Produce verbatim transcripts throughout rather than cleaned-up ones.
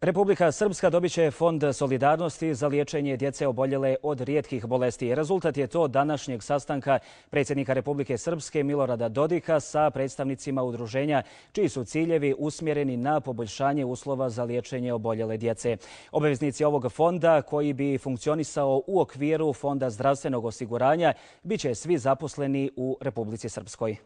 Republika Srpska dobit će Fond solidarnosti za liječenje djece oboljele od rijetkih bolesti. Rezultat je to današnjeg sastanka predsjednika Republike Srpske Milorada Dodika sa predstavnicima udruženja čiji su ciljevi usmjereni na poboljšanje uslova za liječenje oboljele djece. Obaveznici ovog fonda, koji bi funkcionisao u okviru Fonda zdravstvenog osiguranja, bit će svi zaposleni u Republici Srpskoj.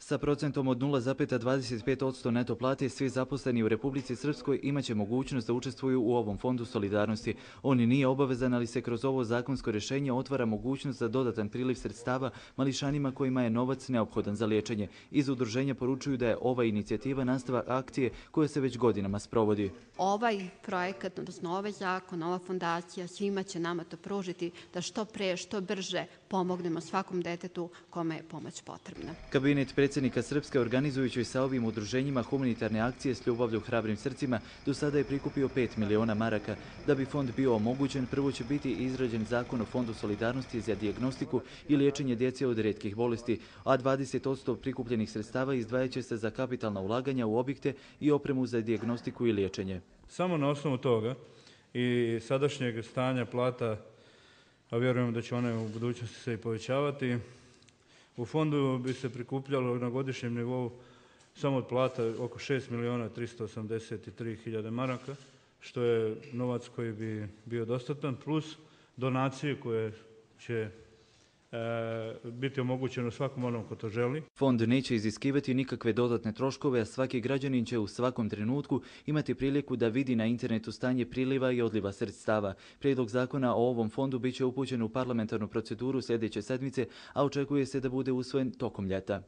Sa procentom od nula zarez dvadeset pet posto neto plate, svi zaposleni u Republici Srpskoj imaće mogućnost da učestvuju u ovom fondu solidarnosti. On nije obavezan, ali se kroz ovo zakonsko rješenje otvara mogućnost za dodatan priliv sredstava mališanima kojima je novac neophodan za liječenje. Iz udruženja poručuju da je ova inicijativa nastavak akcije koja se već godinama sprovodi. Ovaj projekat, odnosno ovaj zakon, ova fondacija svima će nama to pružiti da što pre, što brže pomognemo svakom detetu kome je pomoć potrebna. Kabinet predsjednika Srpske, organizujući sa ovim udruženjima humanitarne akcije s ljubavlju hrabrim srcima, do sada je prikupio pet miliona maraka. Da bi fond bio omogućen, prvo će biti izrađen zakon o Fondu solidarnosti za dijagnostiku i liječenje djece od rijetkih bolesti, a dvadeset posto prikupljenih sredstava izdvajat će se za kapitalna ulaganja u objekte i opremu za dijagnostiku i liječenje. Samo na osnovu toga i sadašnjeg stanja plata, a vjerujem da će one u budućnosti se i povećavati, u fondu bi se prikupljalo na godišnjem nivou samo od plata oko šest milijuna tristo osamdeset tri hiljade maraka, što je novac koji bi bio dostatan, plus donacije koje će e, biti omogućeno svakom onom ko to želi. Fond neće iziskivati nikakve dodatne troškove, a svaki građanin će u svakom trenutku imati priliku da vidi na internetu stanje priliva i odliva sredstava. Prijedlog zakona o ovom fondu bit će upućen u parlamentarnu proceduru sljedeće sedmice, a očekuje se da bude usvojen tokom ljeta.